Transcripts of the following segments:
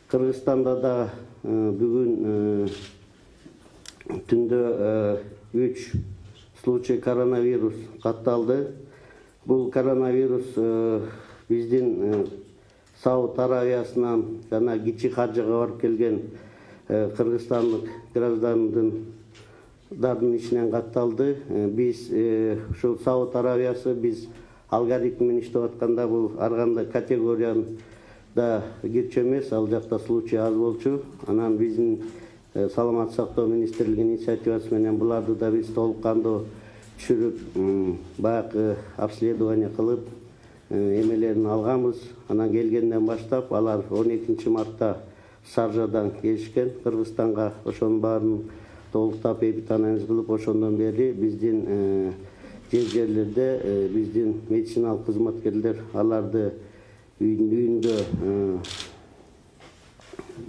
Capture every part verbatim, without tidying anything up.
Кыргызстанда да бүгүн түндө үч случай коронавирус катталды. Бул коронавирус биздин Сауд Аравиясынан жана Кичи Хажыга барып келген кыргызстандык граждандардын ичинен катталды. Биз ушул Сауд Аравиясы биз алгоритм менен иштеп атканда бул ар кандай категорияда кирчү эмес, ал жакта случай аз болчу. Анан биздин саламаттык сактоо министрлигинин инициативасы менен буларды да биз толук кандуу түшүрүп, баягы обследование кылып, эмелерин алганбыз. Анан келгенден баштап алар он экинчи мартта Саржадан келишкен Кыргызстанга. Ошонун баарын толуктап эпидемиологиялык кылып, ошондон бери биздин жер жерлерде биздин медициналык кызматкерлер аларды үйүндө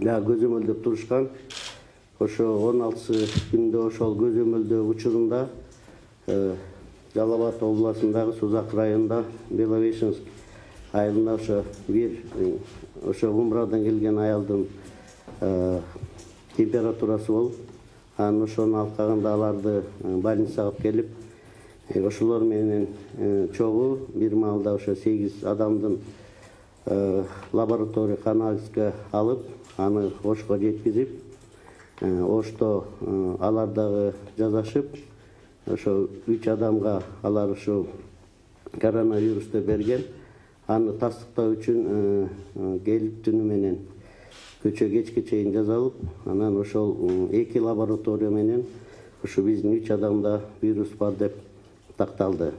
да көзөмөлдөп турушкан. Ошо он алтысы күндө ошол көзөмөлдөө учурунда Жалал Абад областындагы Сузак районунда Беловешенск айылында ошо бир ошо умрадан келген аялдын температурасы болуп, анан ошону алкаганда аларды больницага алып келип, ошолор менен чогуу бир маалда ошо сегиз адамдын лабораториялык анализге алып, аны Ошко жеткизип, Ошто алар дагы жазашып, ошо үч адамга алар ушул коронавирусту берген. Аны тастыктоо үчүн келип түнү менен көчө кечке чейин жазалып, анан ошол эки лаборатория менен ушу биздин үч адамда вирус бар деп такталды.